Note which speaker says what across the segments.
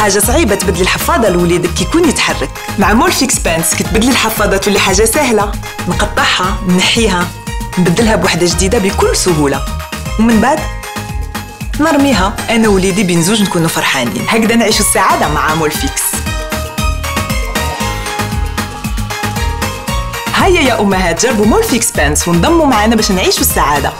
Speaker 1: حاجه صعيبه تبدلي الحفاضه لوليدك كي يكون يتحرك. مع مورفيكس بانس كتبدلي الحفاضه تولي حاجه سهله، نقطعها نحيها نبدلها بوحده جديده بكل سهوله، ومن بعد نرميها انا ووليدي بين زوج نكونوا فرحانين. هكذا نعيشوا السعاده مع مورفيكس. هيا يا امهات جربوا مورفيكس بانس وانضموا معنا باش نعيشوا السعاده.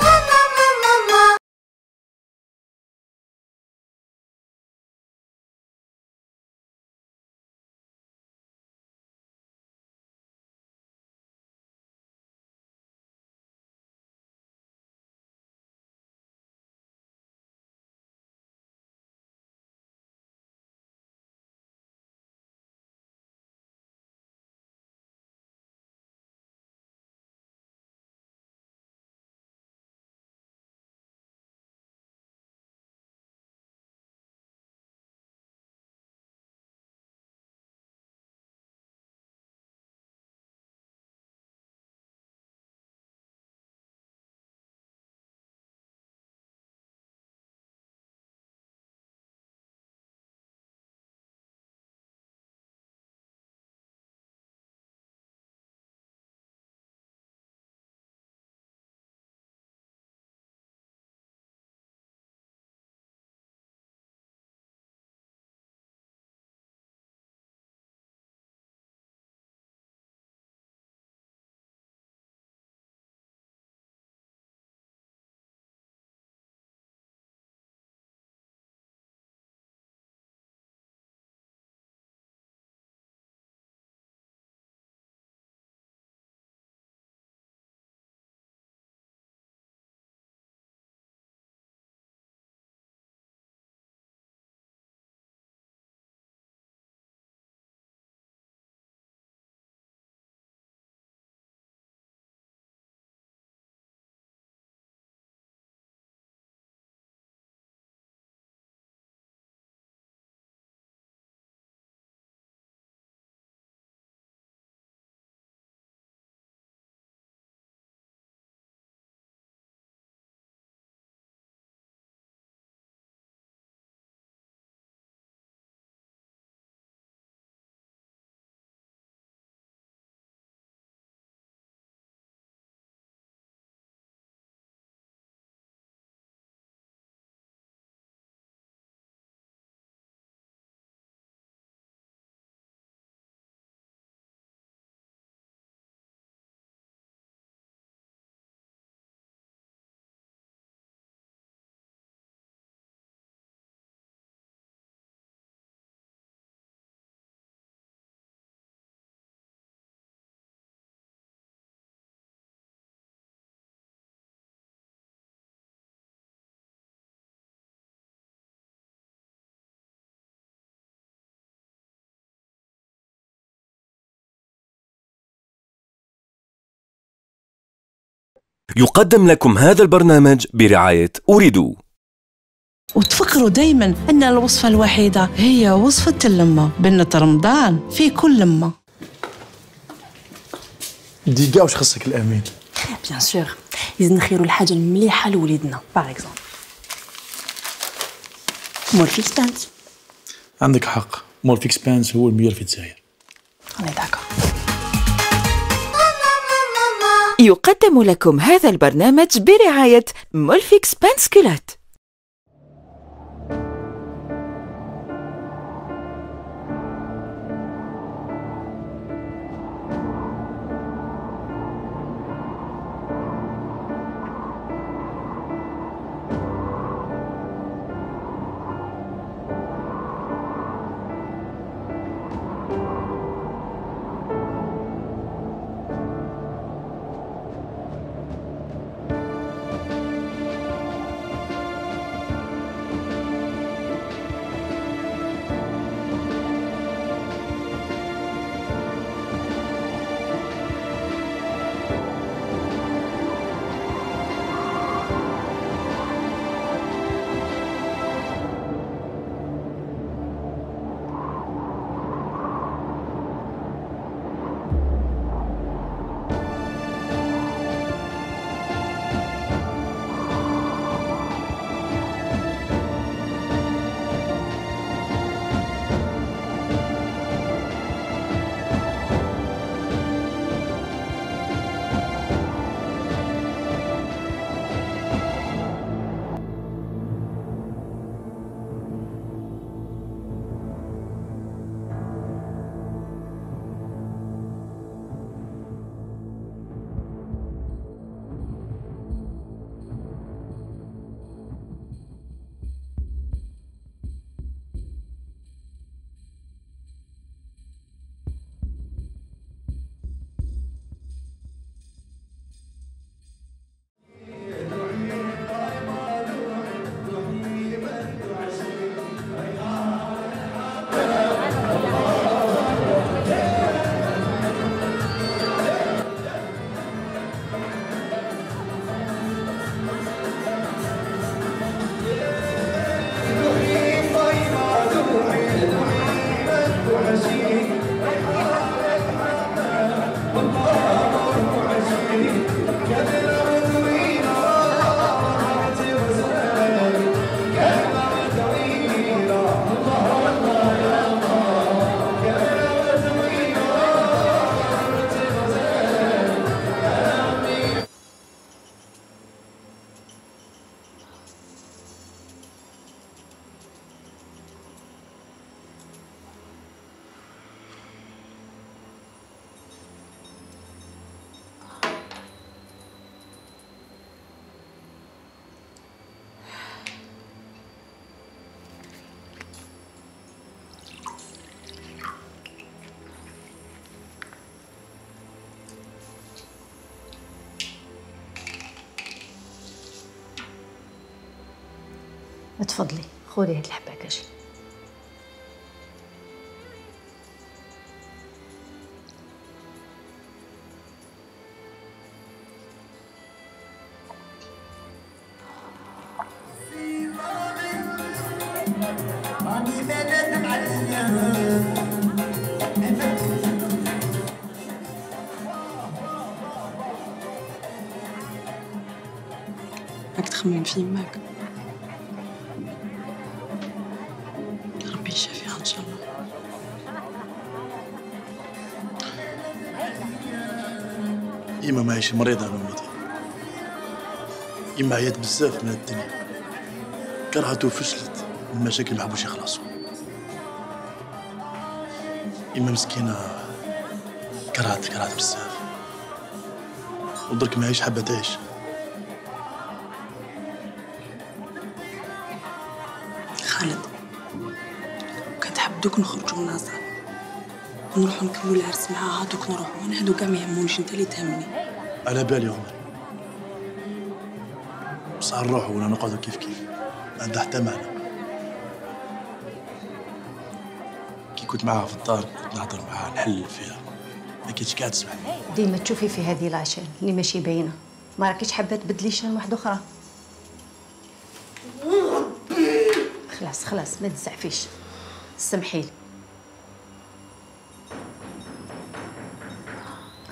Speaker 2: يقدم لكم هذا البرنامج برعاية أريدو.
Speaker 3: وتفكروا دايما أن الوصفة الوحيدة هي وصفة اللمة. بنة رمضان في كل لمة.
Speaker 4: ديكا واش خصك الأمين؟
Speaker 5: بيان سور لازم نخيروا الحاجة المليحة لوليدنا. باغ اكزومبل مورفيكس بانس.
Speaker 4: عندك حق، مورفيكس بانس هو الميور في الجزائر.
Speaker 5: أنا داكا.
Speaker 6: يقدم لكم هذا البرنامج برعاية مورفيكس بانس كولات.
Speaker 5: تفضلي خذي هاد الحبه كاجي.
Speaker 3: راك تخمم في يماك، ربي يشافيها ان شاء الله.
Speaker 4: يما ماهيش مريضة نوميتي، يما عيات بزاف من الدنيا، كرهت وفشلت من المشاكل ما حبوش يخلصوا. يما مسكينة كرهت بزاف، ودرك ماهيش حابة تعيش.
Speaker 3: خالد، كنت حاب دوك نخرجوا من النازل ونروحوا نكملوا العرس معاها، دوك نروحوا. انا هادو كاع ما يهمونيش، انت اللي تهمني.
Speaker 4: على بالي عمر، بصح نروحوا ولا نقعدوا كيف ما عندها حتى معنى. كي كنت معاها في الدار كنت نهضر معاها نحلل فيها، ما كنتش قاعد تسمعني.
Speaker 5: ديما تشوفي في هذه لاشين اللي ماشي باينه، ما راكيش حابه تبدلي شان واحده اخرى. خلاص ما تزعفيش، سمحيلي.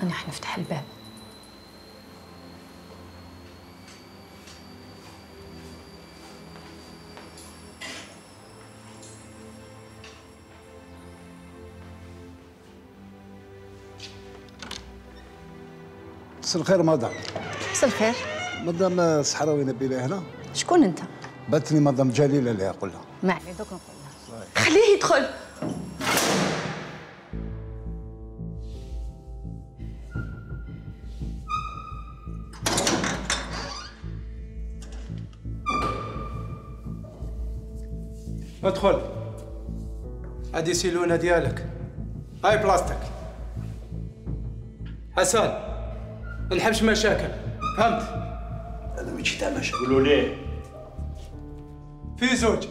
Speaker 5: انا حنفتح الباب.
Speaker 7: مساء الخير مدام.
Speaker 5: مساء الخير.
Speaker 7: مدام الصحراوي نبيله هنا.
Speaker 5: شكون انت؟
Speaker 7: باتني مدام جليله اللي يقولها.
Speaker 5: ما عليه دوك نقول لها. خليه يدخل.
Speaker 8: ادخل. هادي سيلونه ديالك، هاي بلاصتك. حسن، نحبش مشاكل، فهمت؟
Speaker 4: انا ماشي تاع مشاكل. قولوا ليه
Speaker 8: في زوج.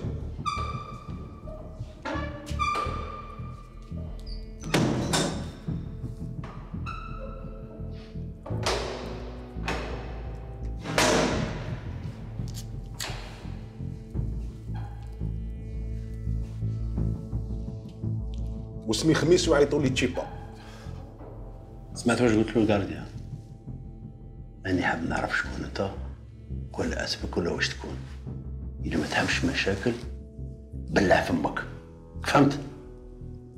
Speaker 9: واسمي خميس ويعيطوا لي تشيبا.
Speaker 10: سمعت واش قلت له الكارديان؟ ماني حاب نعرف شكون انت ولا اسمك ولا واش تكون. اذا ما تحبش مشاكل بلع فمك، فهمت؟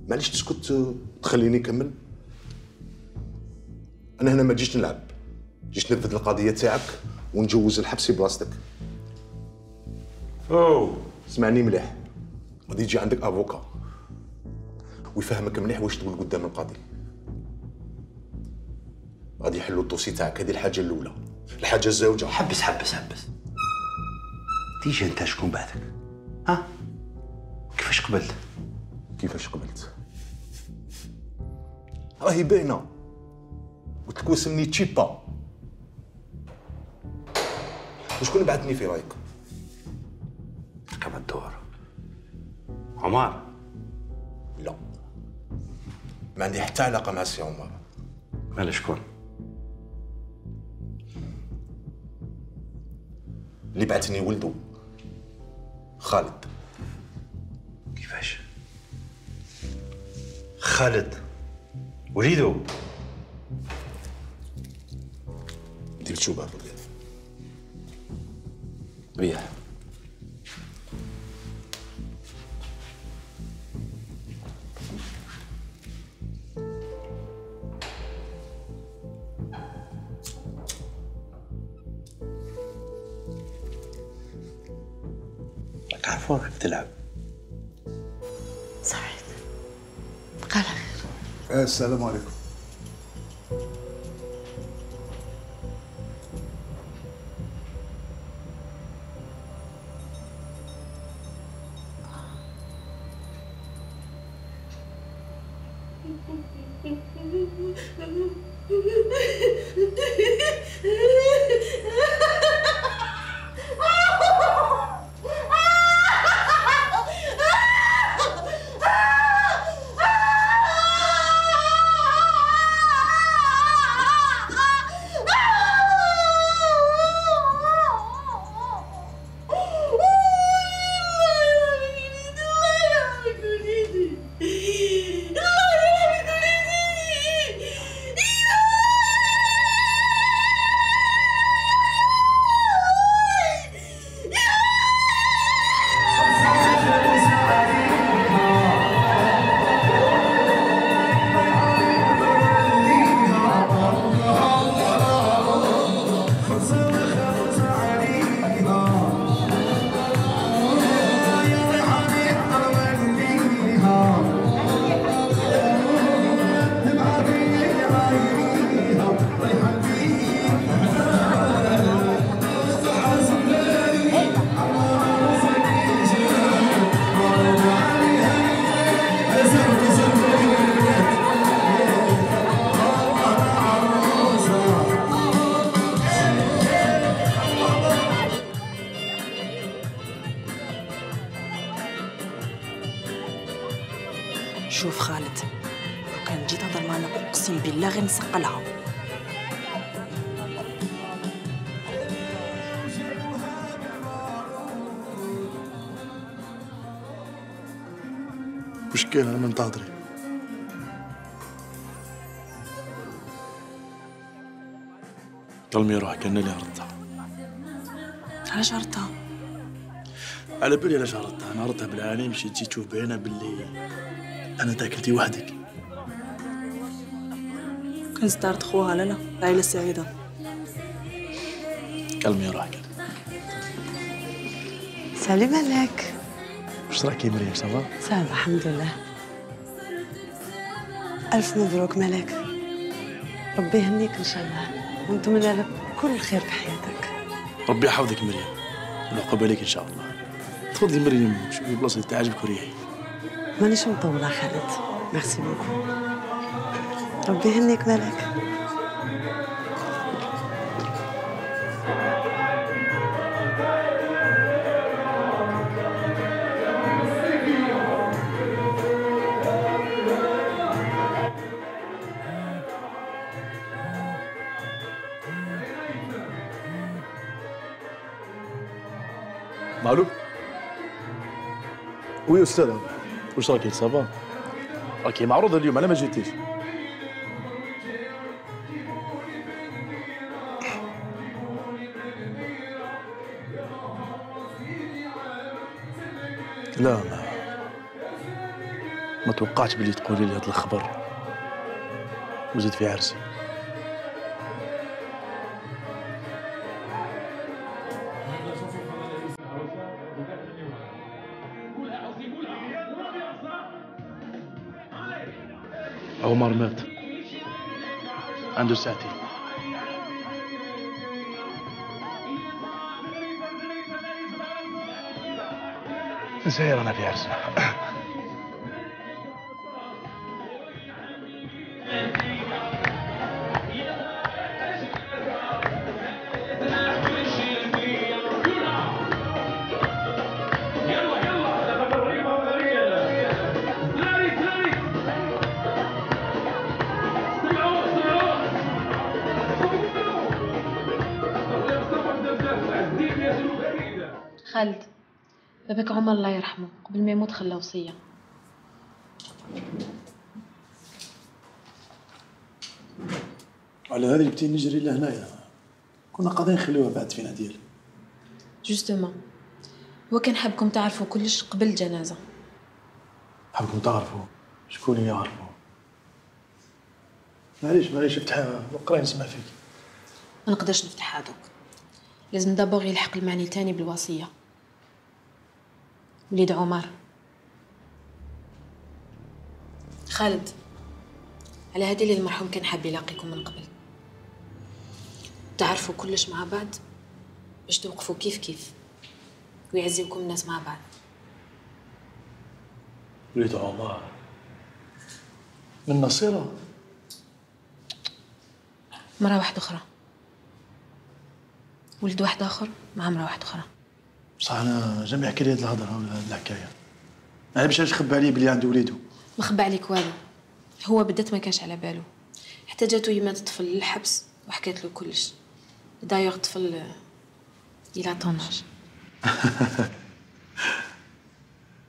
Speaker 9: معليش تسكت تخليني نكمل. انا هنا ما جيتش نلعب، جيت ننفذ القضيه تاعك ونجوز الحبسي بلاصتك. اسمعني مليح، غادي يجي عندك افوكا ويفهمك مليح واش تقول قدام القاضي. غادي يحلوا الدوسي تاعك، هذه الحاجه الاولى. الحاجه الزوجه.
Speaker 10: حبس تيجي انت شكون بعدك؟ ها؟ كيفاش قبلت؟
Speaker 9: راهي باينه، قلت لك واسمني تشيبا. وشكون بعثني في رايك؟
Speaker 10: ركب الدور عمر.
Speaker 9: لا، ما عندي حتى علاقه مع سي عمر.
Speaker 10: مال شكون؟
Speaker 9: اللي بعثني ولده خالد.
Speaker 10: كيفاش؟ خالد وليدو؟
Speaker 9: دير شو بابا
Speaker 10: ريح. راك عارفة راك تلعب.
Speaker 3: سعيد بقى على خير.
Speaker 7: السلام عليكم.
Speaker 3: شوف خالد، لو كان جيت تهضر معنا اقسم بالله غير نسقلها.
Speaker 4: وش كاين انا منتظري؟ ظلمي روحك انا اللي ردتها.
Speaker 3: علاش ردتها؟
Speaker 4: على بالي علاش ردتها، انا ردتها بالعاني مشيتي تشوف بعينها باللي انا تاكلتي وحدك.
Speaker 3: كان زدارت خوها لالا، العائلة السعيدة.
Speaker 4: كلمي روحك.
Speaker 11: سلام عليك.
Speaker 4: واش راكي مريم؟ صافا؟
Speaker 11: صافا الحمد لله. ألف مبروك ملاك، ربي يهنيك إن شاء الله ونتمنى لك كل خير في حياتك.
Speaker 4: ربي يحفظك مريم والعقبة عليك إن شاء الله. تفضلي مريم شوفي بلاصة اللي تعجبك وريحي.
Speaker 11: مانيش مطولة خالد، ميرسي بوكو. ربي يهنيك ملاك.
Speaker 4: مالو؟ وي أستاذة، واش راكي صافا؟ راكي معروضة اليوم على ما جيتيش. لا ما توقعتش بلي تقولي لي هاد الخبر وزيد في عرسي. عمر مات عنده ساعتين. نسير انا في عرسنا.
Speaker 5: خالد، باباك عمر الله يرحمه قبل ما يموت خلى وصية.
Speaker 4: على هذه بتي نجري لهنايا، كنا قاعدين نخليوها بعد فينا ديال.
Speaker 5: جوستومون هو كان حابكم تعرفوا كلش قبل الجنازة.
Speaker 4: حابكم تعرفوا شكون يعرفوا؟ معليش افتحها وقراي نسمع فيك.
Speaker 5: ما نقدرش نفتحها دوك، لازم دابور يلحق المعني تاني بالوصية. وليد عمر. خالد، على هذه اللي المرحوم كان حاب يلاقيكم من قبل، تعرفوا كلش مع بعض باش توقفوا كيف كيف ويعزمكم الناس مع بعض.
Speaker 4: وليد عمر من نصيرة؟
Speaker 5: مرة واحدة أخرى، ولد واحد آخر مع مرة واحدة أخرى.
Speaker 4: بصح أنا جامي يحكي لي هاد الهضرة ولا هاد الحكاية، أنا باش تخبى عليه بلي عنده وليدو.
Speaker 5: ما خبى عليك والو، هو بدات ما كانش على بالو، حتى جاتو يمات الطفل للحبس وحكات له كلش. دايوغ الطفل إلى طوناج.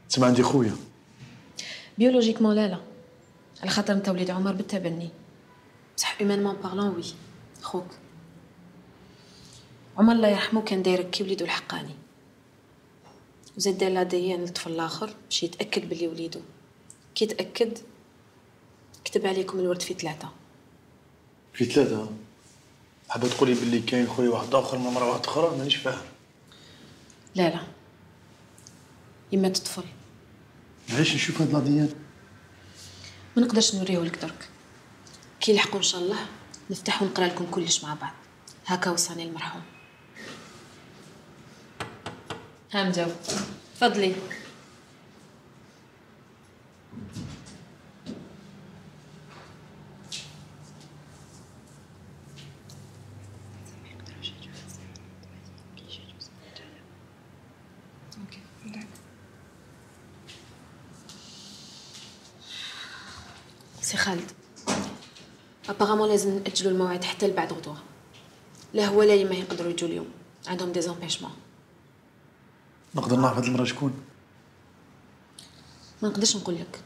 Speaker 4: تسمع عندي خويا
Speaker 5: بيولوجيكمون لا على خاطر انت وليد عمر بالتبني، بصح هيومانمون بارلون وي خوك. عمر الله يرحمه كان دايرك كي وليدو الحقاني، وزاد دار لاديان للطفل الاخر باش يتاكد بلي وليدو. كي تاكد كتب عليكم الورد في 3.
Speaker 4: في 3؟ حابة تقولي بلي كاين خويا واحد اخر من مرة واحدة اخرى؟ مانيش فاهم.
Speaker 5: لا يمات الطفل.
Speaker 4: علاش نشوف هاد لاديان؟
Speaker 5: ما نقدرش نوريهولك درك، كي يلحقوا ان شاء الله نفتح ونقرا لكم كلش مع بعض. هكا وصاني المرحوم. ها مجاو، تفضلي. سي خالد ابارامون لازم نأجلوا الموعد حتى لبعد غدوه. لا هو لا ما يقدروا يجوا اليوم، عندهم دي زامبيشمون.
Speaker 4: نقدر نعرف هاد المرة شكون؟
Speaker 5: ما نقدرش نقول لك،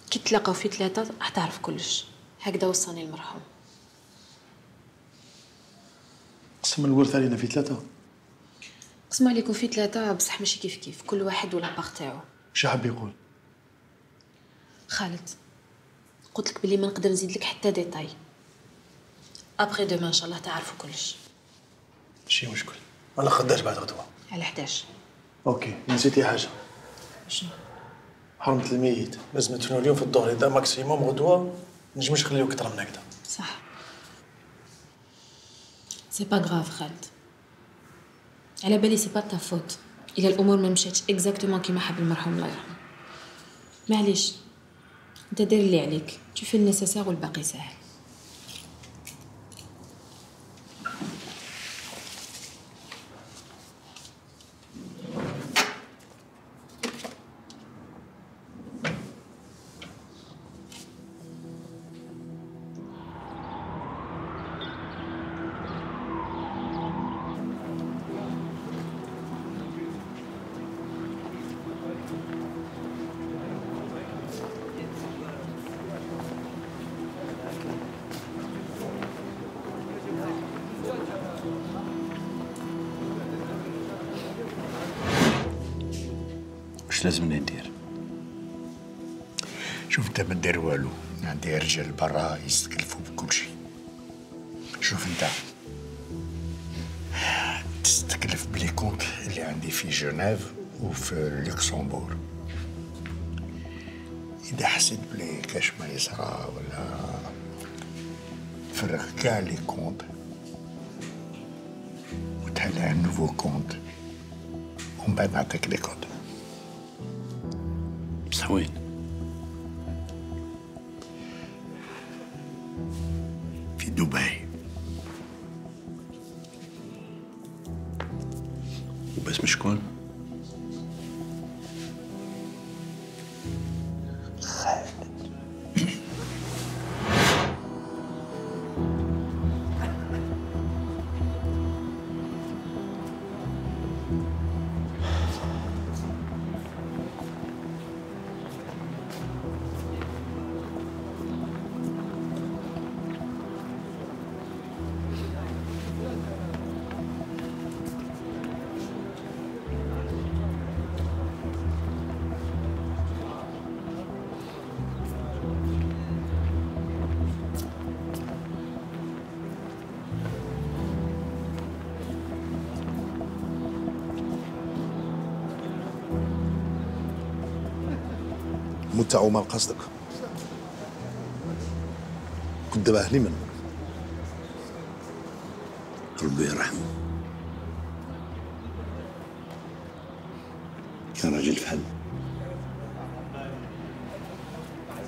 Speaker 5: كي تلاقاو في 3 راح تعرف كلش. هكذا وصاني المرحوم.
Speaker 4: قسم الورث علينا في 3.
Speaker 5: قسم عليكم في 3 بصح ماشي كيف كيف، كل واحد ولا باغ تاعو.
Speaker 4: واش حاب يقول؟
Speaker 5: خالد قلت لك بلي ما نقدر نزيد لك حتى ديتاي. ابخي دوما ان شاء الله تعرفوا كلش.
Speaker 4: ماشي مشكل، انا خداش بعد غدوه.
Speaker 5: على 11.
Speaker 4: اوكي، نسيتي حاجه.
Speaker 5: شنو؟
Speaker 4: حرمة الميت لازم تدفنوا اليوم في الظهر، اذا ماكسيموم غدوه نجمش نخليو اكثر من هكذا.
Speaker 5: صح. سي با غراف خالد، على بالي سي با تا فوت الا الامور ما مشاتش اكزاكتومون كيما حب المرحوم الله يرحمه. معليش، انت دير اللي عليك، تشوف النسيسير والباقي ساهل.
Speaker 10: واش لازمني ندير؟
Speaker 12: شوف انت ما دير والو، عندي رجال برا يستكلفوا بكل شيء. شوف انت تستكلف بلي كونت اللي عندي في جنيف وفي لوكسمبورغ. اذا حسيت بلي كاش ما يصرى ولا فرغ كاع لي كونت وتهلا نوفو كونت ومن بعد نعطيك لي كود.
Speaker 10: بصح وين؟
Speaker 12: في دبي.
Speaker 10: وباسم شكون؟
Speaker 9: متع وما قصدك كنت دابا أهلي من
Speaker 10: ربي يرحمه، كان راجل فحل،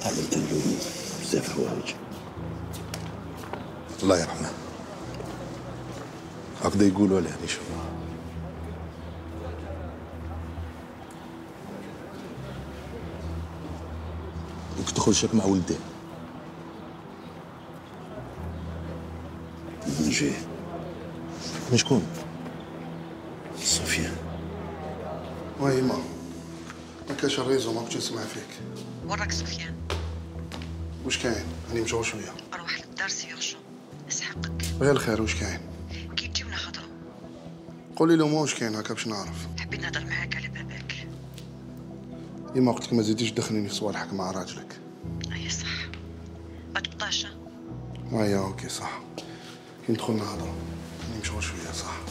Speaker 10: عملت له بزاف حوايج.
Speaker 9: الله يرحمه. هكذا يقولوا عليه نشوف. كنت تدخل شاك مع ولديه.
Speaker 10: نجي.
Speaker 9: من شكون؟
Speaker 10: صوفيا.
Speaker 13: وي ما كاش الريزو ما كنتش نسمع فيك.
Speaker 11: وراك سفيان؟
Speaker 13: واش كاين؟ راني مشغول شويه.
Speaker 11: روح للدار سي يورجون، اسحقك.
Speaker 13: غير الخير، واش كاين؟
Speaker 11: كي تجيو نهضروا.
Speaker 13: قولي له واش كاين هكا باش نعرف.
Speaker 11: حبيت نهضر معاك على باباك.
Speaker 13: ديما قلت لك ما تزيديش تدخليني في صوالحك مع راجلك.
Speaker 11: اي صح، ما تبطاش.
Speaker 13: ايا اوكي صح. كي ندخل نهضروا، راني مشغول شويه صح.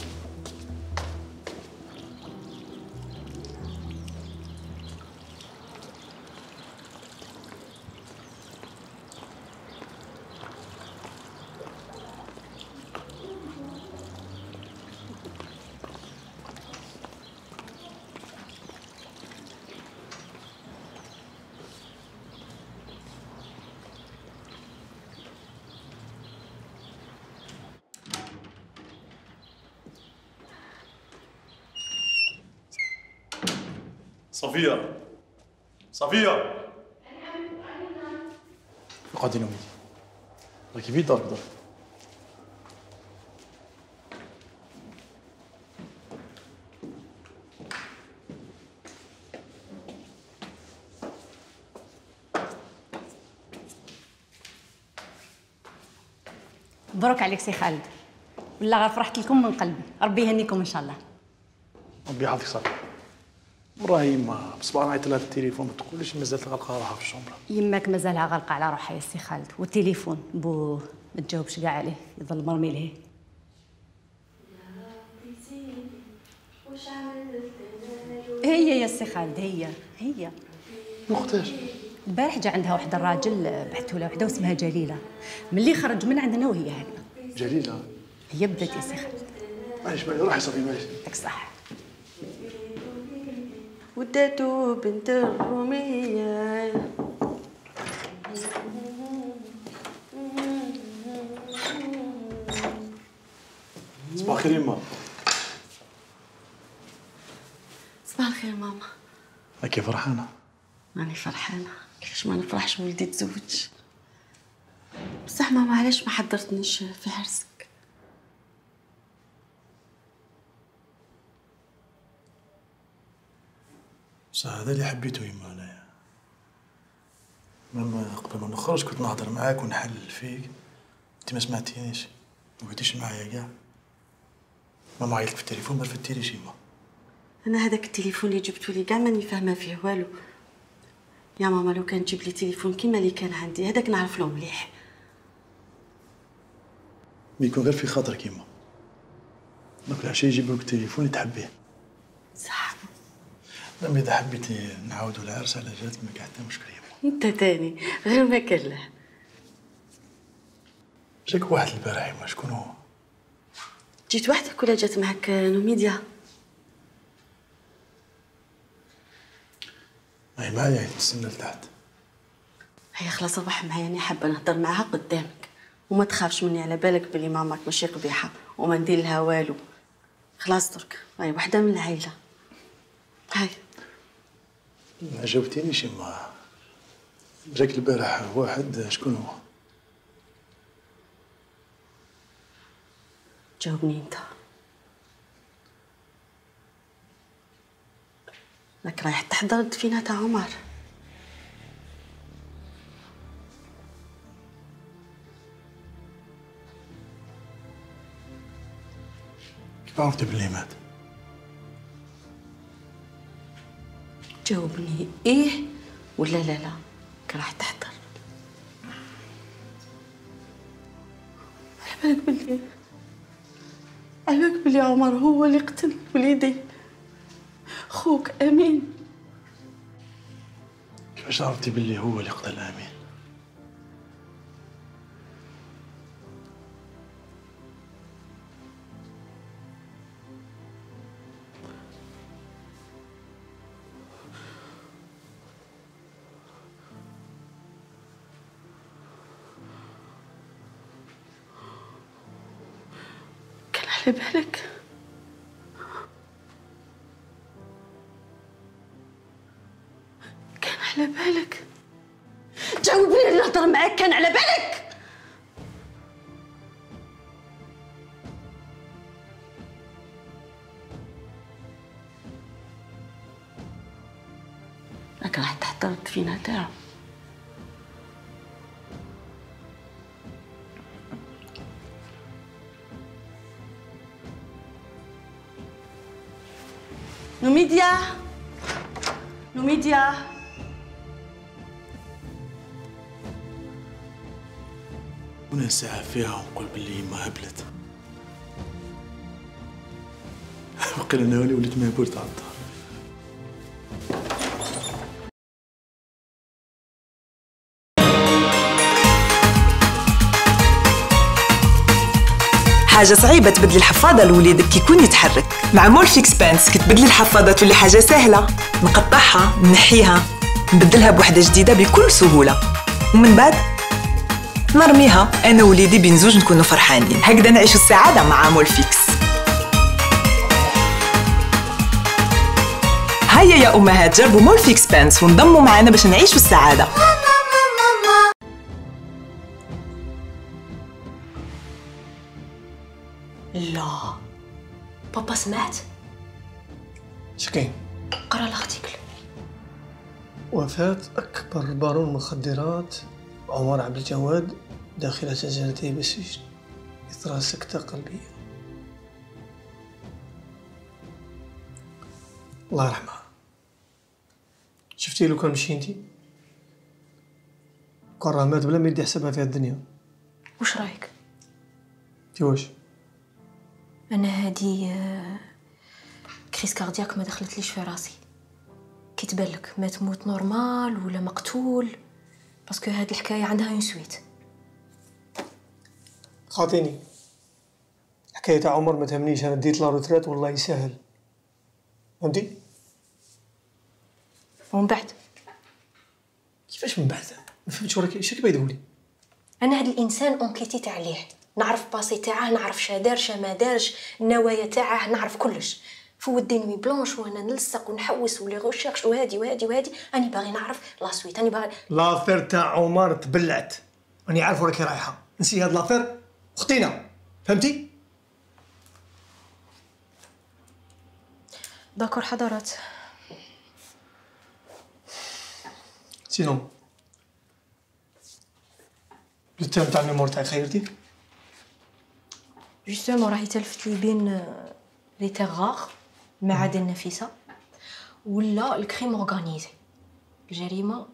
Speaker 4: صفية، صفية اقعدي نومي. راكي في دارك درك.
Speaker 14: مبروك عليك سي خالد، والله غير فرحت لكم من قلبي، ربي يهنيكم ان شاء الله.
Speaker 4: ربي يعطيك صحة. مرة يما بصباح نعيط لها في التليفون ما تقوليش مازالت غالقة روحها في الشومبرا.
Speaker 14: يماك مازالها غالقة على روحها يا سي خالد، والتليفون بوه ما تجاوبش كاع عليه، يظل مرمي لهيه. هي يا سي خالد هي
Speaker 4: مختاج.
Speaker 14: البارح جا عندها واحد الراجل بعثوا لها وحده واسمها جليله، ملي خرج من عندنا وهي هكذا.
Speaker 4: جليلة
Speaker 14: هي بدات يا سي خالد.
Speaker 4: معليش روحي صافي معليش.
Speaker 14: يعطيك الصحة.
Speaker 11: وداتو بنت الرومية.
Speaker 4: صباح الخير يما.
Speaker 11: صباح الخير ماما.
Speaker 4: راكي فرحانة؟
Speaker 11: ماني فرحانة، كيفاش ما نفرحش ولدي تزوج. بصح ماما علاش ما حضرتنيش في عرسك؟
Speaker 4: بصح هذا اللي حبيته يما انايا. ماما قبل ما نخرج كنت نهضر معاك ونحلل فيك، انت ما سمعتينيش، ما قلتيش معايا كاع. ماما عيطت في التليفون ما رفدتيليش يما.
Speaker 11: انا هذاك التليفون اللي جبتو لي كاع ماني فاهمه فيه والو. يا ماما لو كان تجيب لي تليفون كيما اللي كان عندي هذاك نعرف له مليح.
Speaker 4: بيكون غير في خاطرك يما. دونك العشيه يجيبوا لك التليفون اللي تحبيه.
Speaker 11: صح.
Speaker 4: لما اذا حبيتي نعاودوا العرس على جهتك ما كاع حتى مشكل يما.
Speaker 11: انت تاني غير ما كان له.
Speaker 4: جاك واحد البارح يما، شكون هو؟
Speaker 11: جيت وحدك ولا جات معك نوميديا؟
Speaker 4: هي معايا تستنى لتحت.
Speaker 11: هيا خلاص صباح معايا، انا حابه نهضر معاها قدامك وما تخافش مني، على بالك بلي ماماك ماشي قبيحه وما ندير لها والو. خلاص درك هاي وحده من العائله. هاي
Speaker 4: ما جاوبتينيش يما. جاك البارح واحد، شكون هو؟
Speaker 11: جاوبني انت. راك رايح تحضر الدفينه تاع عمر.
Speaker 4: كيف عرفتي بلي مات؟
Speaker 11: جاوبني ايه ولا لا لا راح تحضر. على بالك بلي عمر هو اللي قتل وليدي خوك امين.
Speaker 4: كيفاش عرفتي بلي هو اللي قتل امين؟
Speaker 11: على بالك كان على بالك. جاوبني اللي نهضر معاك، كان على بالك. راك راح تحضر الدفينه تاعو. نوميديا نوميديا
Speaker 4: وانا ساعة فيها ونقول باللي ما هبلت. وقيل انا وليت مهبول تاع الدار.
Speaker 1: حاجة صعيبة تبدلي الحفاضة لوليدك كي يكون يتحرك. مع مورفيكس بانس كتبدلي الحفاضة تولي حاجة سهلة، نقطعها نحيها نبدلها بوحدة جديدة بكل سهولة، ومن بعد نرميها أنا ووليدي بين زوج نكونوا فرحانين. هكذا نعيشوا السعادة مع مورفيكس. هيا يا أمهات جربوا مورفيكس بانس وانضموا معنا باش نعيشوا السعادة.
Speaker 15: لا بابا سمعت؟
Speaker 8: شكين؟
Speaker 15: قرا الارتيكل.
Speaker 8: وفاة أكبر بارون مخدرات عمر عبد الجواد داخل سجنته بالسجن إثر سكتة قلبية. الله يرحمها. شفتي لو كان مشي انتي كون راه مات بلا ما يدي حسابها في الدنيا.
Speaker 15: وش رايك؟
Speaker 8: انتي واش؟
Speaker 15: انا هادي كريس كاردياك ما دخلتليش في راسي. كي تبانلك ما تموت نورمال ولا مقتول، باسكو هاد الحكايه عندها اون سويت.
Speaker 8: خاطيني حكايه تاع عمر ما تهمنيش، انا ديت لا روتريت والله يسهل، فهمتي؟
Speaker 15: ومن بعد
Speaker 8: كيفاش من بعد؟ ما فهمتش وراك اش كيبغي يقول لي.
Speaker 15: انا هاد الانسان اونكيتيت عليه، نعرف باسي تاعه، نعرف شا دار شا ما دارش، النوايا تاعه نعرف كلش. فود نوي بلونش وانا نلصق ونحوس ولي غوشيرش وهادي وهادي وهادي، راني باغي نعرف لا سويت، راني باغي.
Speaker 8: لافير تاع عمر تبلعت، راني عارف وراكي رايحه، نسي هاد لافير اختينا، فهمتي؟
Speaker 15: داكور حضرات.
Speaker 8: سينون التام تاع الميمور تاعك خيرتي؟
Speaker 15: جوستومون راهي تلفت لي بين لي تيغار المعادن النفيسه ولا الكريم اورغانيزي، الجريمه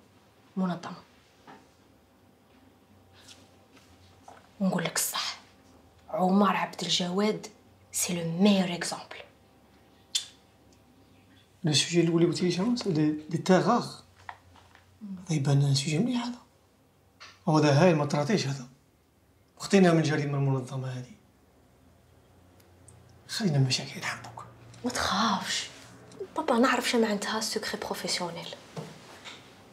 Speaker 15: منظمه. ونقول لك الصح، عمر عبد الجواد سي لو ميور اكزامبل.
Speaker 8: لو سوجي الاول اللي قلتي لي شنو؟ لي تيغار. يبان سوجي مليح هذا، هذا هاي ما طراتيش هذا، اختينا من الجريمه المنظمه هذه. خلينا المشاكل نحبوك.
Speaker 15: ما تخافش بابا، نعرف شنو معناتها سكري بروفيسيونيل،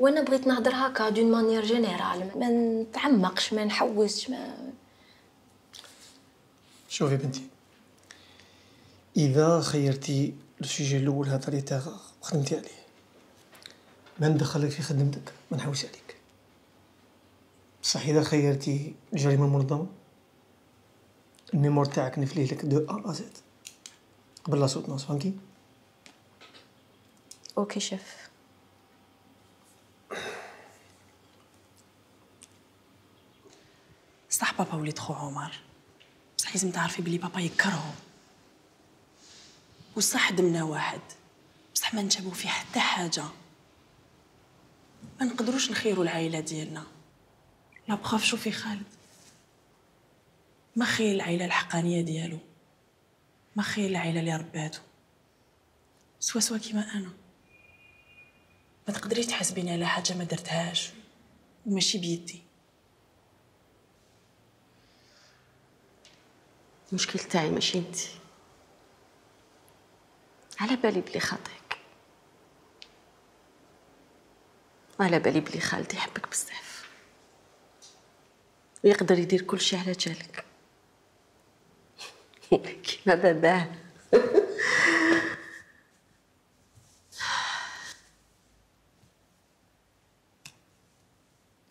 Speaker 15: وانا بغيت نهضر هكا دون مانيير جينيرال، ما نتعمقش ما نحوسش ما.
Speaker 8: شوفي بنتي، اذا خيرتي السوجي الاول هذا لي تاغ وخدمتي عليه، ما ندخلك في خدمتك، ما نحوس عليك. بصح اذا خيرتي الجريمه المنظمه، الميمور تاعك نفليه لك دو ا زد قبل لا سوتونس، فهمتي؟
Speaker 15: اوكي شيف.
Speaker 3: صح بابا وليد خو عمر، بصح لازم تعرفي بلي بابا يكرهو، وصح دمنا واحد، بصح ما نتشابهو في حتى حاجه، ما نقدروش نخيروا العائله ديالنا. لا بخاف شوفي خالد، ما خير العائله الحقانيه ديالو، ما خير العائله اللي رباتو، سوا كيما انا. ما تقدريش تحاسبيني على حاجه ما درتهاش وماشي بيدي.
Speaker 11: المشكل تاعي ماشي انتي، على بالي بلي خاطيك، على بالي بلي خالتي يحبك بزاف ويقدر يدير كل شيء على جالك كيما باباه.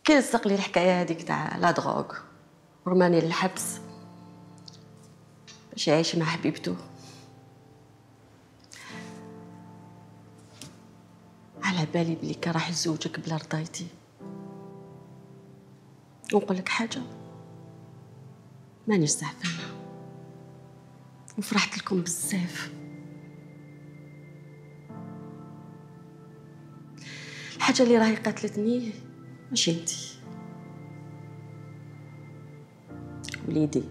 Speaker 11: كي لصق لي الحكايه هذيك تاع لا دروغ ورماني للحبس باش يعيش مع حبيبته، على بالي بلي كان راح يزوجك بلا رضايتي. ونقول لك حاجه، مانيش زعفانه وفرحت لكم بزاف. الحاجه اللي راهي قاتلتني ماشي انتي، وليدي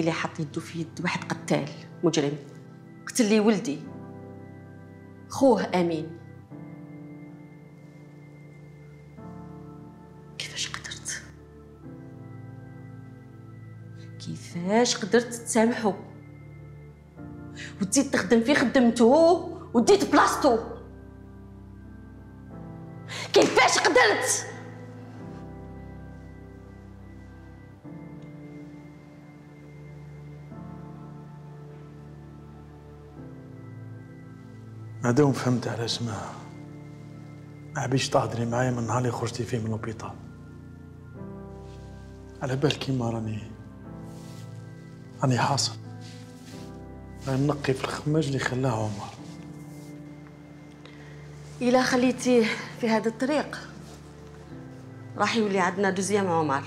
Speaker 11: اللي حط يدو في يد واحد قتال مجرم، قتل لي ولدي خوه امين. كيفاش قدرت تسامحو وتزيد تخدم في خدمته وديت بلاصتو؟ كيفاش قدرت؟
Speaker 4: مادام فهمت علاش ما حبيتش تهضري معايا من نهار اللي خرجتي فيه من لوبيطال، على بالك كيما راني راني حاصل، راني نقي في الخماج اللي خلاه عمر.
Speaker 11: إلا خليتيه في هذا الطريق راح يولي عندنا دوزيام عمر.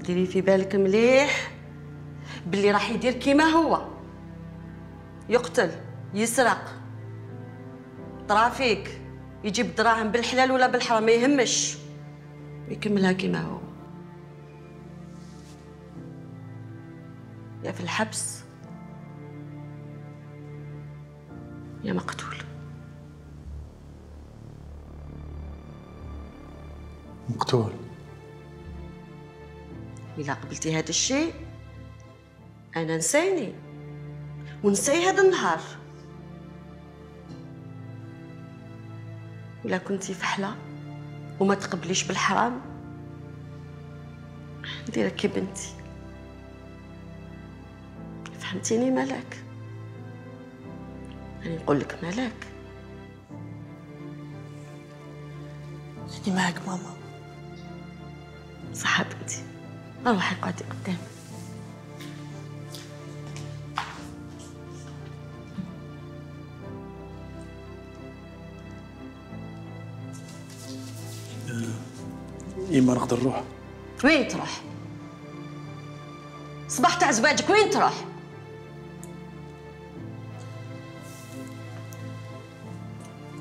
Speaker 11: ديري في بالك مليح باللي راح يدير كيما هو، يقتل، يسرق، طرافيك، يجيب دراهم بالحلال ولا بالحرام ما يهمش، ويكملها كيما هو، يا في الحبس يا مقتول.
Speaker 4: مقتول؟
Speaker 11: إلا قبلتي هذا الشيء أنا نسيني ونسي هذا النهار. ولا كنتي فحلة وما تقبليش بالحرام نديرك كي بنتي. فهمتيني ملاك؟ أنا نقول لك ملاك.
Speaker 3: أنا معك ماما.
Speaker 11: صح بنتي، روحي اقعدي قدامي.
Speaker 4: إيما نقدر نروح؟
Speaker 11: وين تروح؟ صباح تاع زواجك وين تروح؟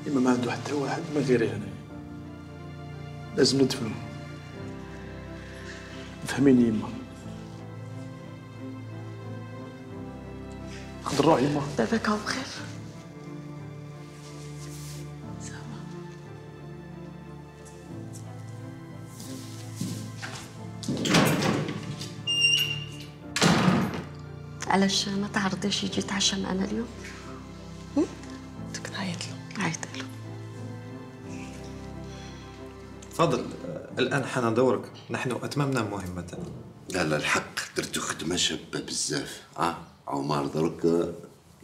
Speaker 4: إيما ما عنده حتى واحد ما غيري أنا، لازم ندفنو. فهميني يما. نقدر نروح يما؟
Speaker 11: دابا هاو بخير. علاش ما تعرضيش يجي يتعشى معنا اليوم؟
Speaker 3: بدك نعيط له.
Speaker 11: عيط له.
Speaker 16: تفضل، الآن حان دورك، نحن أتممنا مهمتنا.
Speaker 10: لا لا الحق درتو خدمة شابة بزاف. عمر درك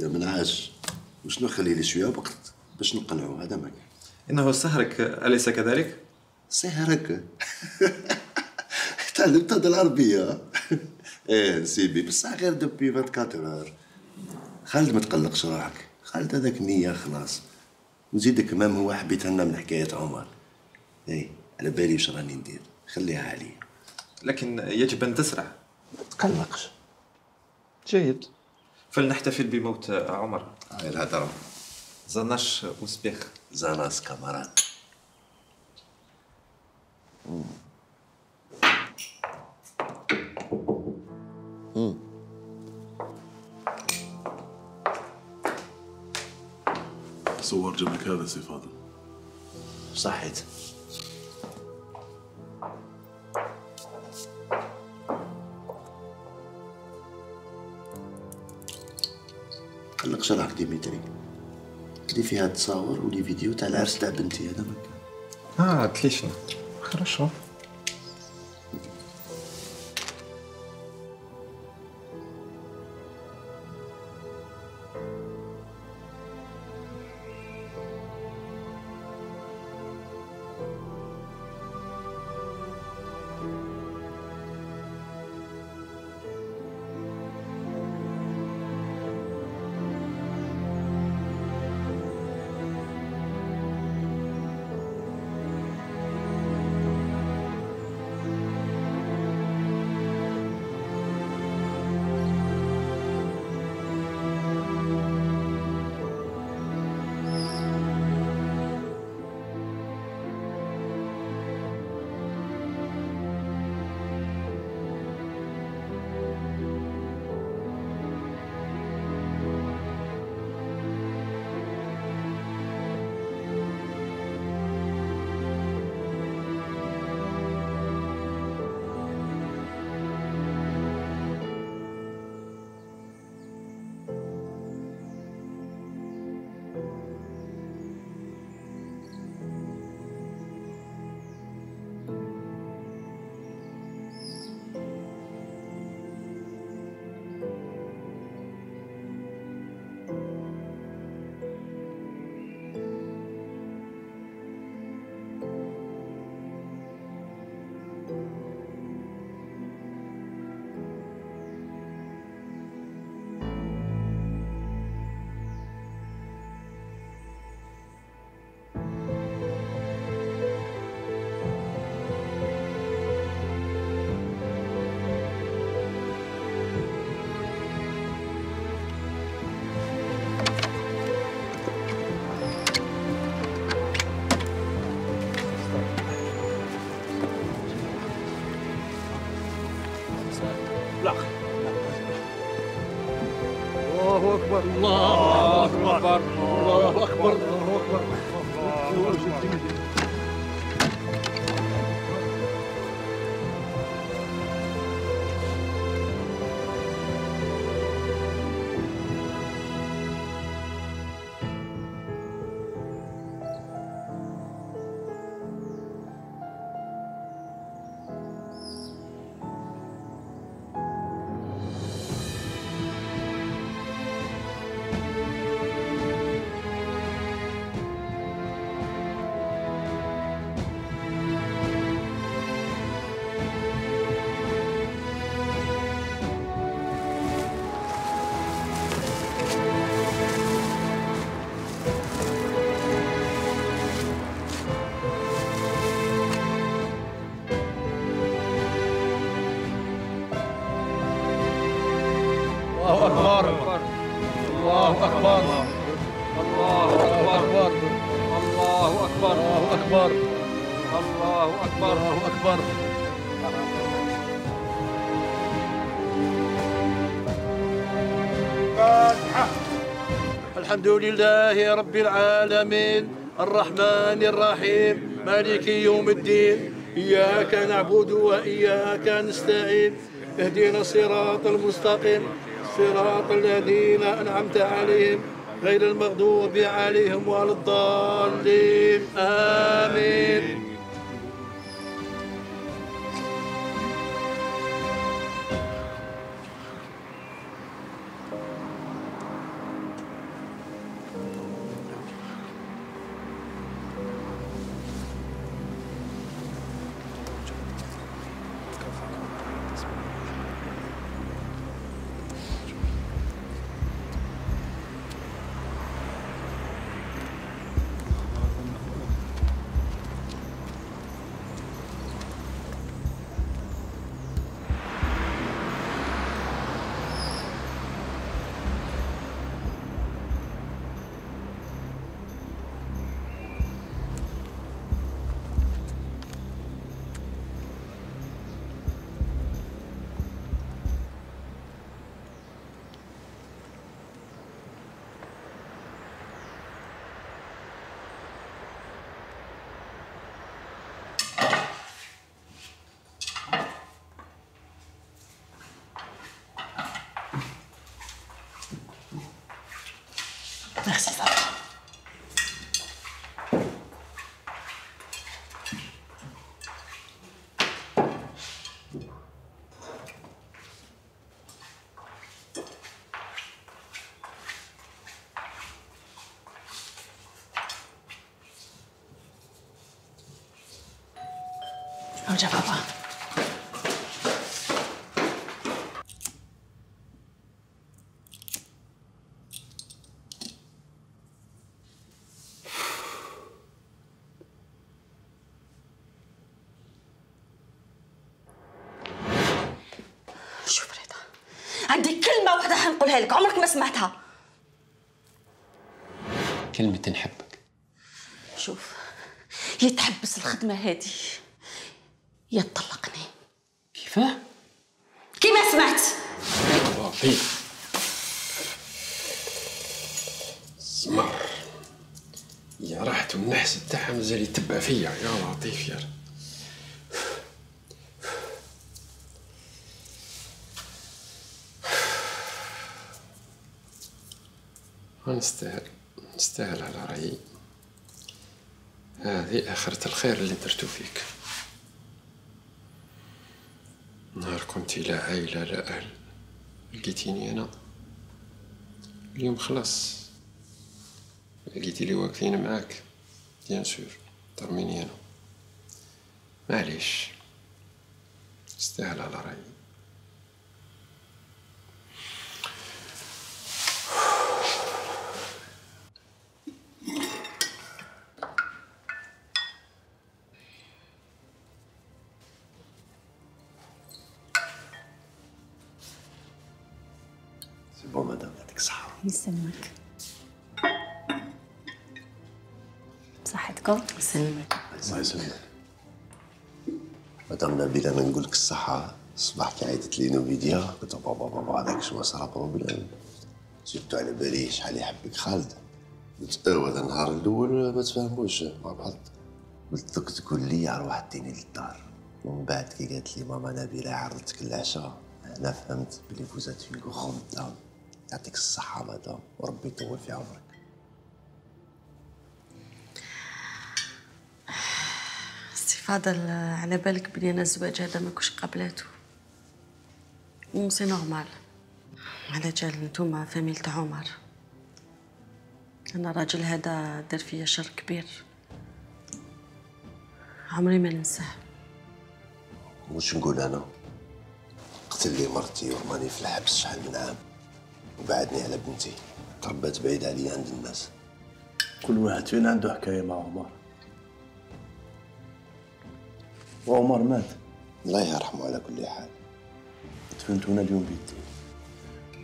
Speaker 10: يا منعاش وشنو خلي لي شوية وقت باش نقنعو، هذا ما كان.
Speaker 16: إنه سهرك أليس كذلك؟
Speaker 10: سهرك؟ تعلمت هذا العربية. ايه سيبي بصح غير دوبي 24 اور. خالد ما تقلقش روحك، خالد هذاك نية خلاص. وزيدك كمان هو حبيت لنا من حكاية عمر. ايه على بالي واش راني ندير، خليها عليا.
Speaker 16: لكن يجب أن تسرع.
Speaker 4: ما تقلقش. جيد.
Speaker 16: فلنحتفل بموت عمر.
Speaker 10: هاي الهدرة.
Speaker 16: زناش وسبيخ.
Speaker 10: زناس كامارات.
Speaker 13: صور جبلك هذا سي فاضل.
Speaker 10: صحيت. قلق شرحك ديمتري، اللي فيها تصاور ولي فيديو تاع العرس تاع بنتي، هذا ما كان.
Speaker 16: отлично.
Speaker 4: Хорошо.
Speaker 17: الله أكبر الله أكبر الله أكبر الله أكبر. الله أكبر الله أكبر الله أكبر الله أكبر الله أكبر الله أكبر الله أكبر. فاتحة. الحمد لله رب العالمين الرحمن الرحيم مالك يوم الدين إياك نعبد وإياك نستعين اهدنا الصراط المستقيم صراط الذين أنعمت عليهم غير المغضوب عليهم ولا الضالين آمين.
Speaker 3: Merci, ça va. ارجع بابا.
Speaker 11: شوف رضا، عندي كلمة واحدة حنقولها لك عمرك ما سمعتها.
Speaker 10: كلمة نحبك.
Speaker 11: شوف، يا تحبس الخدمة هادي يا تطلقني.
Speaker 10: كيفاه؟
Speaker 11: كيما سمعت.
Speaker 18: لطيف سمر يا راحت والنحس بتاعها مازال يتبع فيا يا لطيف يا نستاهل على رأيي. هذه آخرة الخير اللي درتو فيك. نهار كنتي لا عائلة لا أهل لقيتيني أنا، اليوم خلاص لقيتي لي واقفين معاك بيان سور ترميني أنا. معليش استاهل على رأيي.
Speaker 10: سي بون مدام، يعطيك الصحة.
Speaker 14: يسلمك. بصحتكم؟
Speaker 11: يسلمك.
Speaker 10: الله يسلمك. مدام نبيلة، أنا نقول لك الصحة. الصباح كي عيطت لي نوفيديا قلت بابا هذاك شنو صرا بروبليم.
Speaker 19: سيرتو على بالي شحال يحبك خالد. قلت هذا النهار الاول ما تفاهموش مع بعض، قلت لك تقول لي روح ديني للدار، ومن بعد كي قالت لي ماما نبيله عرضتك العشاء انا فهمت بلي فوزات في غون داون. يعطيك الصحة مدام وربي يطول في عمرك.
Speaker 11: سي فاضل، على بالك بلي انا الزواج هذا ما كنتش قابلاتو، سي نورمال. على جال نتوما فاميل تاع عمر، انا الراجل هذا دار فيا شر كبير عمري ما ننساه.
Speaker 19: واش نقول انا؟ قتل لي مرتي ورماني في الحبس شحال من عام، وبعدني على بنتي، تربات بعيد عليا عند الناس.
Speaker 4: كل واحد فينا عنده حكايه مع عمر، وعمر مات
Speaker 19: الله يرحمه على كل حال.
Speaker 4: دفنت هنا اليوم بيدي،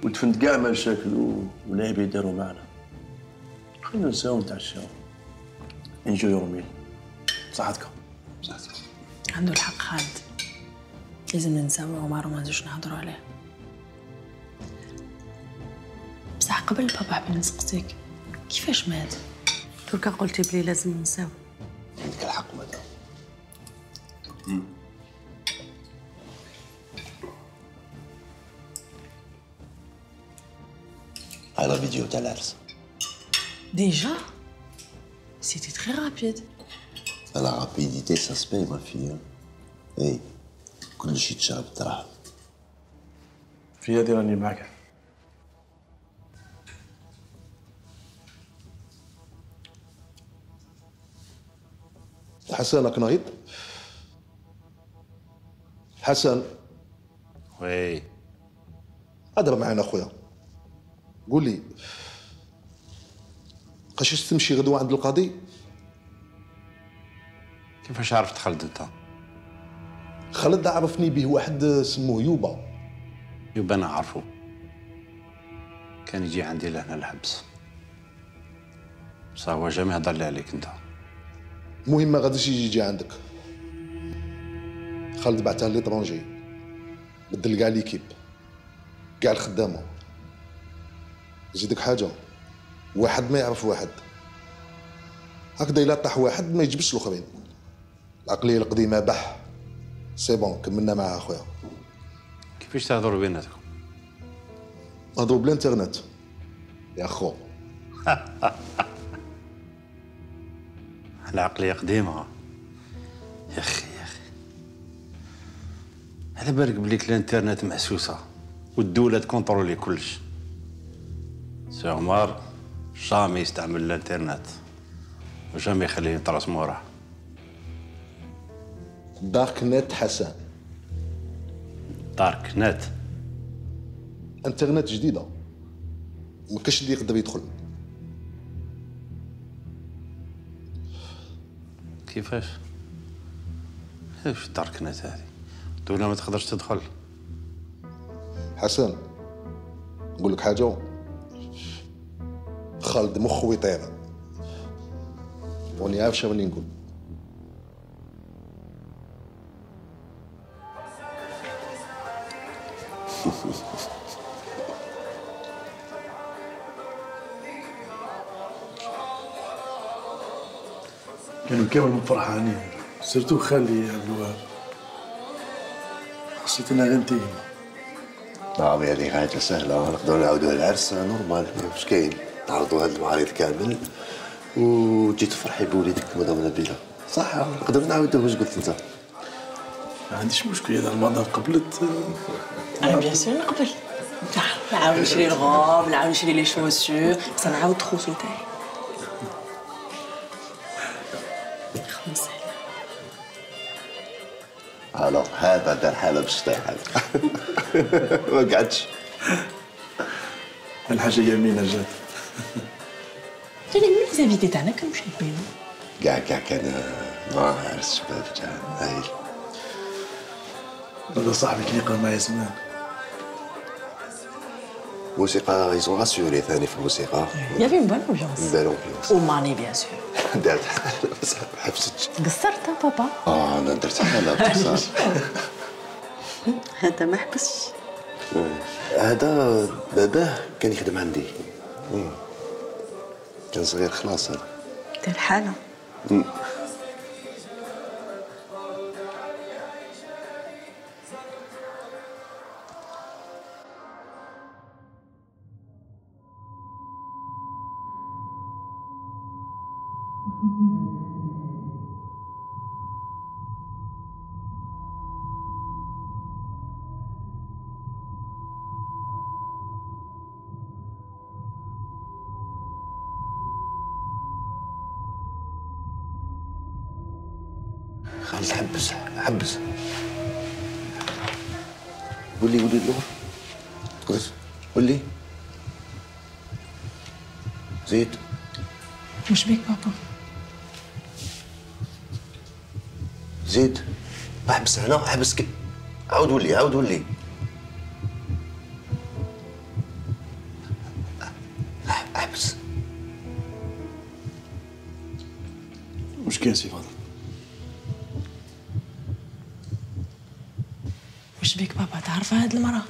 Speaker 4: ودفنت كاع مشاكل والعيب يداروا معنا. خلينا نساو نتعشاو انجو يومين. صحتك.
Speaker 19: صحتك.
Speaker 3: عنده الحق خالد، لازم ننساو عمر وما نزيدوش نهضروا عليه. بصح قبل بابا حبيت نسقسيك، كيفاش مات؟
Speaker 11: دركا قلتي بلي لازم ننساو.
Speaker 19: عندك الحق مدام. هاي لا فيديو تاع العرس.
Speaker 3: Déjà? C'était très rapide.
Speaker 19: La rapidité, ça se paye, ma fille. اي كل شيء تشرب بالدراهم.
Speaker 4: في هذه راني معك.
Speaker 9: حسن راك نغيض؟ حسن.
Speaker 10: وي.
Speaker 9: هضر معانا خويا. قول لي قاش تمشي غدوه عند القاضي؟
Speaker 10: كيفاش عرفت خالد انت؟
Speaker 9: خالد عرفني به واحد سموه يوبا.
Speaker 10: يوبا انا عارفه، كان يجي عندي لهنا الحبس، بصح هو جامي هضر لي عليك انت.
Speaker 9: المهم ما غاديش يجي عندك. خالد بعثها ليترونجي، بدل كاع ليكيب، كاع الخدامه. زيدك حاجه، واحد ما يعرف واحد، هكذا الا طاح واحد ما يجبش الاخرين. العقليه القديمه بح. سي بون كملنا معها خويا.
Speaker 10: كيفاش تهضروا بيناتكم؟
Speaker 9: نهضروا بالانترنت يا خو.
Speaker 10: العقليه قديمه يا اخي يا اخي. على بالك بليك الانترنت محسوسه والدوله تكونترولي كلش. سي عمر جامي يستعمل الانترنت وجامي يخليه يطرس موراه.
Speaker 9: دارك نت حسن.
Speaker 10: دارك نت؟
Speaker 9: انترنت جديده ما كاش اللي يقدر يدخل.
Speaker 10: كيفاش دارك نت هذه؟ الدولة ما تقدرش تدخل.
Speaker 9: حسن نقول لك حاجه، خالد مخه يطير، وني عارف شنو اللي نقول.
Speaker 4: كانوا كامل فرحانين، سيرتو خالي عبد الوهاب. حسيت انها غير انتينا.
Speaker 19: نعم هذه حاجه سهله، نقدروا نعاودوها العرس نورمال. واش كاين؟ نعرضوا هاد المعارض كامل وتجي تفرحي بوليدك مدام نبيله. صح نقدروا نعاودوه. واش قلت انت؟
Speaker 4: ما عنديش مشكل اذا المدام قبلت.
Speaker 3: انا بيان سور نقبل. نعاود نشري الغوب، نعاود نشري لي شوسور، بصح نعاود التروسو تاعي. خلاص
Speaker 19: الو هذا دار حاله باش طيح هذا. ما قعدش.
Speaker 4: الحاجه يمينه جات.
Speaker 3: تاني من ليزانفيتي تاعنا كانوا شابين.
Speaker 19: كاع كان عرس شباب جا هايل.
Speaker 4: هذا صاحبك اللي قام معايا زمان.
Speaker 19: موسيقى يزون راسيوري ثاني في الموسيقى.
Speaker 3: يافي اون بون امبيونس.
Speaker 19: بون امبيونس.
Speaker 3: وماني بيان سور.
Speaker 19: دارت حالة بس ما حبستش.
Speaker 3: قصرت بابا؟
Speaker 19: انا درت حالة بصح.
Speaker 11: هذا ما حبسش.
Speaker 19: هذا باباه كان يخدم عندي. كان صغير خلاص هذا.
Speaker 11: دير الحالة.
Speaker 19: خالد حبس قولي اللغة تقدر قولي زيد.
Speaker 3: وش بيك بابا؟
Speaker 19: زيد احبس هنا احبس عاود ولي احبس.
Speaker 4: وش كاين سي فاضل؟
Speaker 3: وش بيك بابا؟ تعرف هاد المرأة؟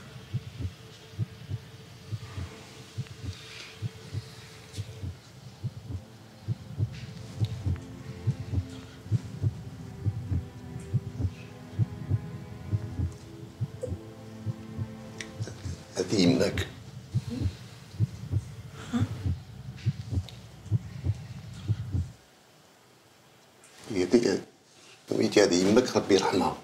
Speaker 19: هذه يمك. هذه يمك ربي يرحمها.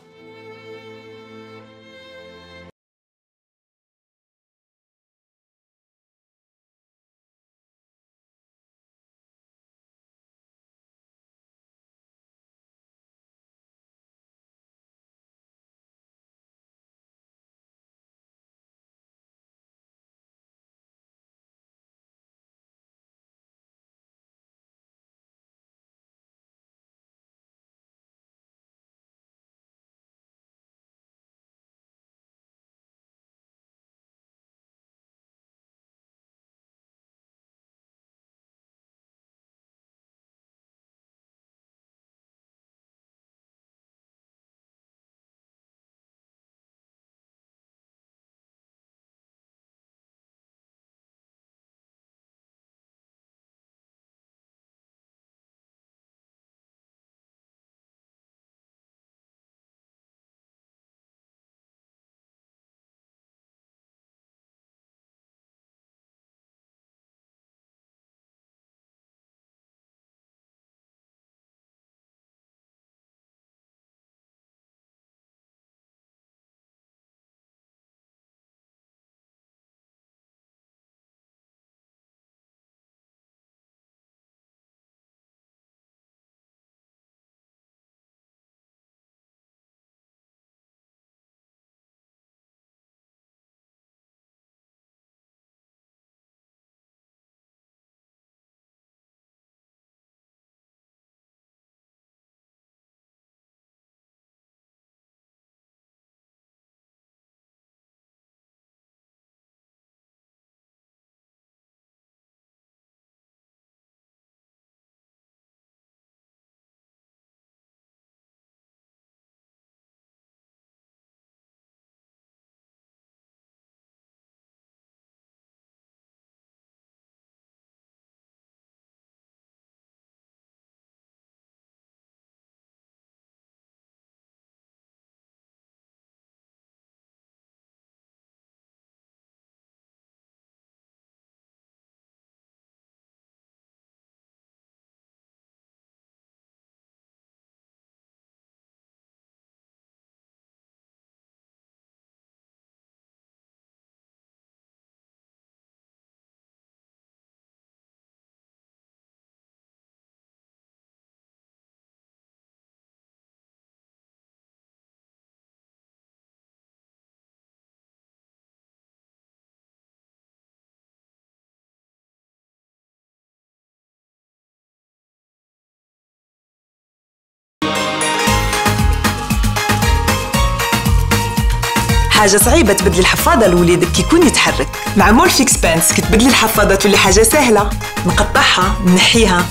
Speaker 1: حاجة صعيبة تبدلي الحفاضة لوليدك كي يكون يتحرك. مع مورفيكس بانس كي تبدلي الحفاضة تولي حاجة سهلة، نقطعها نحيها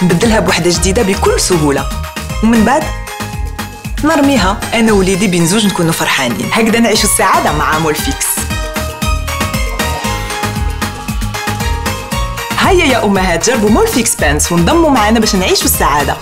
Speaker 1: نبدلها بوحدة جديدة بكل سهولة، ومن بعد نرميها أنا ووليدي بين زوج نكونوا فرحانين. هكذا نعيشوا السعادة مع مورفيكس. هيا يا امهات جربوا مورفيكس بانس وانضموا معنا باش نعيشوا السعاده.